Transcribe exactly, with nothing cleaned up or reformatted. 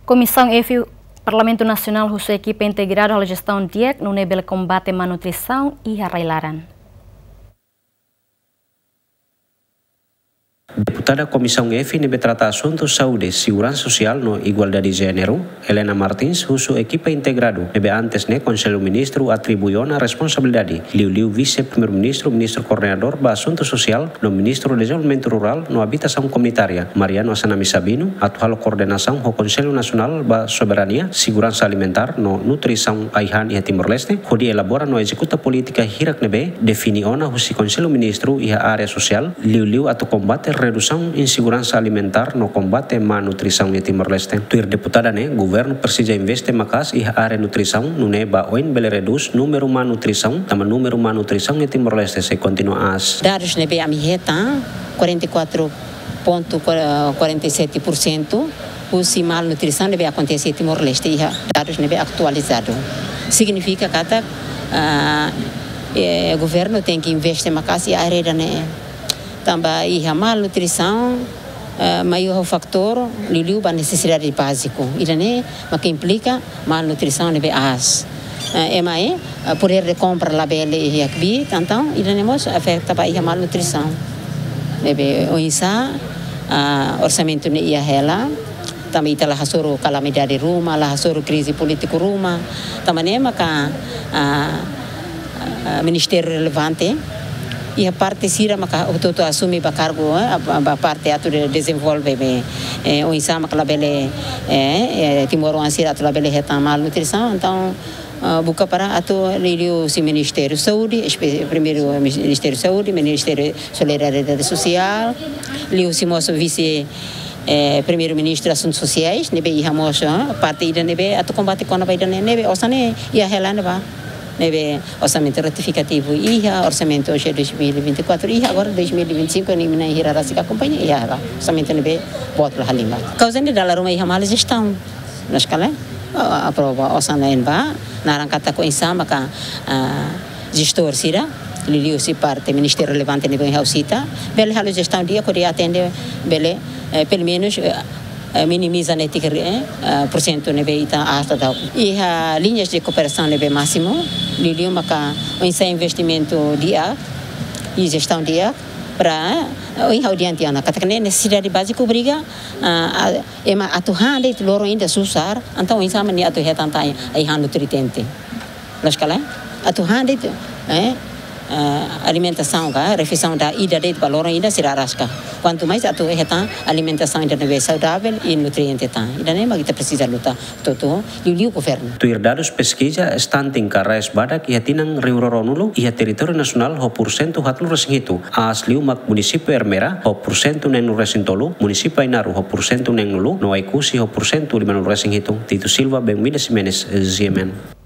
Komisaun F Parlamentu Nasionál husu ekipa integradu halo jestaun di'ak nune'e bele kombate malnutrisaun iha rai-laran. Deputada Komisaun F ne'ebé trata asuntu saúde, seguransa sosiál no igualdade jéneru, Helena Martins, husu ekipa integradu ne'ebé antes ne'e Konsellu Ministru atribui ona responsabilidade, liuliu Vise-Primeiru-Ministru, Ministru Koordenadór ba Asuntu Sosiál no Ministru Dezenvolvimentu Rurál no Abitasaun Komunitária, Mariano Assanami Sabino, atu halo koordenasaun ho Konsellu Nasionál ba Soberania, Seguransa Alimentár no Nutrisaun ai-han iha Timor-Leste, hodi elabora no ezekuta polítika hirak ne'ebé define ona husi Konsellu Ministru iha área sosiál, liuliu atu kombate redusaun inseguransa alimentár no kombate malnutrisaun iha Timor-Leste. Tuir deputada ne'e, governu presiza investe maka'as iha área nutrisaun, nune'e ba oin bele redús númeru malnutrisaun, tanba númeru malnutrisaun iha Timor-Leste sei kontinua aas. Dadus ne'ebé ami hetan, quarenta e quatro ponto quarenta e sete por cento husi malnutrisaun ne'ebé akontese iha Timor-Leste iha dadus ne'ebé atualizadu. Signifika katak, ah, eh, governu tenke investe maka'as iha área ida-ne'e. Tanba iha malnutrisaun, eh, maior fatór liuliu ba nesesidade báziku. Ida-ne'e mak implika malnutrisaun ne'ebé aas. Eh, ema, eh, poder de compra labele iha kbiit, entaun ida-ne'e mós afeta ba iha malnutrisaun. Ne'ebé oinsá, ah, orsamentu ne'e iha hela, tanba ita la hasoru kalamidade ruma, la hasoru krize polítiku ruma, tanba ne'e maka, ah, ah, ministériu relevante, iha parte sira maka hotu-hotu asume ba kargu, eh, ba, ba parte atu de-, dezenvolve be, eh, oinsá maka labele, eh, eh, timoroan sira atu labele hetan malnutrisaun, entaun, ah, buka para atu liuliu husi Ministériu Saúde, espe-, primeiru Ministériu Saúde, Ministériu Solidariedade Sosiál, liuhusi mós Vise, eh, Primeiru-Ministru Asuntu Sosiais, ne'ebé iha mós, eh, parte ida ne'ebé atu kombate kona-ba ida-ne'e, ne'ebé osan ne'e iha hela ne'ebá. Ne'ebé orsamentu retifikativu iha, orsamentu hoje dois mil e vinte e quatro iha, agora dois mil e vinte e cinco ne'e mina hira rasik akompaña iha hela. Orsamentu ne'ebé boot la halimar. Kauza ne'e dala ruma iha mal jestaun. Loos ka lae, ah, aprova osan ne'e ba, naran katak oinsá maka, ah, jestór sira, liuliu husi parte ministériu relevante ne'ebé ha'u sita, bele halo jestaun di'ak hodi atende, bele, eh, pelumenus, eh, eh, minimiza netik, eh, eh, porsentu ne'ebé ita aas daudaun. Iha liñas de kooperasaun ne'ebé másimu, liuliu maka oinsá investimentu di'ak, i jestaun di'ak, para, eh, ohin ha'u dehan tiha ona, katak ne'e nesesidade báziku obriga, ah, a, ema atu han de'it loron ida susar, entaun oinsá mak nia atu hetan tan ai-han nutriente. Loos ka lae? Atu han de'it, eh, eh, alimentasaun ka, refeisaun ida de'it ba loron ida sira rasik. Kuantu mais atu hetan alimentasaun ida ne'ebé saudavel i nutriente tan. Ida-ne'e mak ita presiza luta hotu-hotu, liuliu governu. Tuir dadus peskiza, stunting ka raes badak iha tinan rihun rua ruanulu iha territóriu nasionál ho porsentu haatnulu-resin-hitu. Aas liu mak munisípiu Ermera ho porsentu neenulu-resin-tolu, munisípiu Ainaro ho porsentu neenulu, no Oekusi ho porsentu limanulu-resin-hitu. Tito Silva, Benvida Ximenes, G M N.